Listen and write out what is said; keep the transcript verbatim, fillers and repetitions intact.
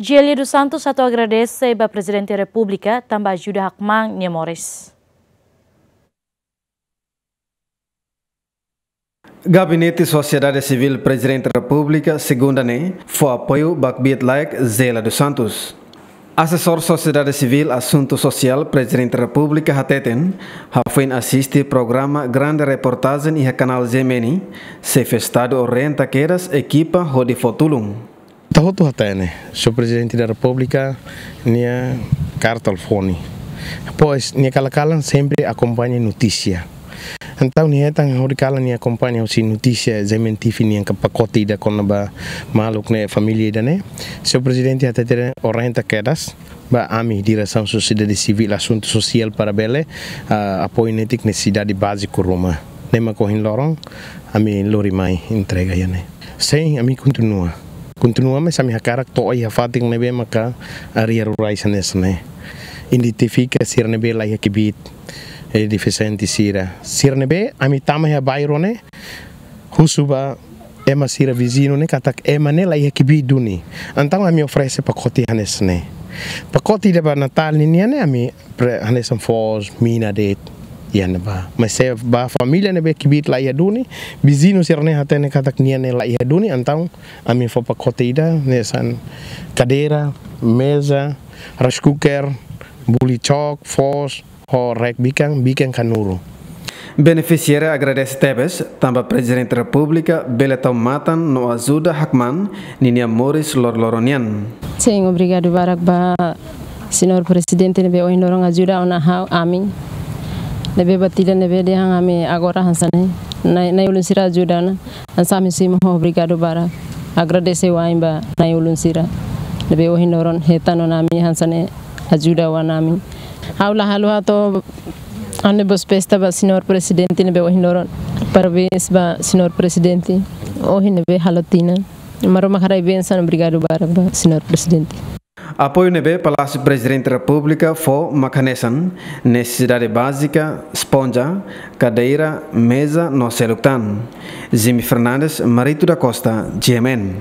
Gélia dos Santos atu agradese ba Prezidente Repúblika tanba ajuda hakmaan nia moris. Gabinete Sosiedade Sivíl Prezidente Repúblika, segunda ne'e, fó apoiu ba kbiit-laek Gélia dos Santos. Asesór Sosiedade Sivíl Asuntu Sosiál Prezidente Repúblika hateten, hafoin asiste programa Grande Reportajen iha Kanál G M N, Xefe Estadu orienta kedas ekipa hodi fó tulun. Ita hotu hatene, Señór Prezidente da Repúblika nia karta telefone. Depois, nia kalan-kalan sempre akompaña notísia. Entaun, nia hetan hori kalan nia akompaña husi notísia G M N T V nian ka pakote ida kona-ba maluk ne'e, família ida-ne'e. Señór Prezidente hateten orienta kedas ba ami, Diresaun Sosiedade Sivíl Asuntu Sosiál, para bele, ah, apoiu netik nesesidade báziku ruma. Ne'e mak ohin loron ami lori mai entrega iha ne'e. Sin, ami kontinua. Kontinua, mas ami hakarak to'o iha fatin ne'ebé maka área rurais hanesan ne'e. Identifika sira ne'ebé la iha kbiit, eh, defisiente sira. Sira ne'ebé ami tama iha bairru ne'e, husu ba ema sira viziñu ne'e katak ema ne'e la iha kbiit duni. Entaun ami oferese pakote hanesan ne'e. Pakote ida ba Natál ninian ne'e ami pre-, hanesan foos, mina de'it, iha ne'ebá. Mas se ba família ne'ebé kbiit la iha duni, viziñu sira-ne'e hatene katak nia ne'e la iha duni, entaun ami fó pakote ida hanesan kadeira, meza, rice cooker, buli chook, foos, ho rek bikan, bikan kanuru. Benefisiáriu agradese tebes tanba Prezidente Repúblika bele tau matan no ajuda hakmaan ninia moris loroloron nian. Sin, obrigadu barak ba Señór Prezidente ne'ebé ohin loron ajuda ona ha'u, ami. Ne'ebé buat ida ne'ebé dehan ami agora hanesan ne'e. Nai, nai-ulun sira ajuda ona. Hanesan ami simu ho obrigadu barak. Agradese wa'in ba nai-ulun sira ne'ebé ohin loron hetan ona ami hanesan ne'e, ajuda ona ami. Ha'u la haluha atu halo boas festas ba Señór Prezidente ne'ebé ohin loron. Parabéns ba Señór Prezidente. Ohin ne'ebé halo tinan. Maromak haraik bensaun, obrigadu barak ba Señór Prezidente. Apoiu ne'ebé Palásiu Prezidente Repúblika fó mak hanesan nesesidade bázika, esponja, kadeira, meza no seluk tan. Jimmy Fernandes, Marito da Costa, G M N.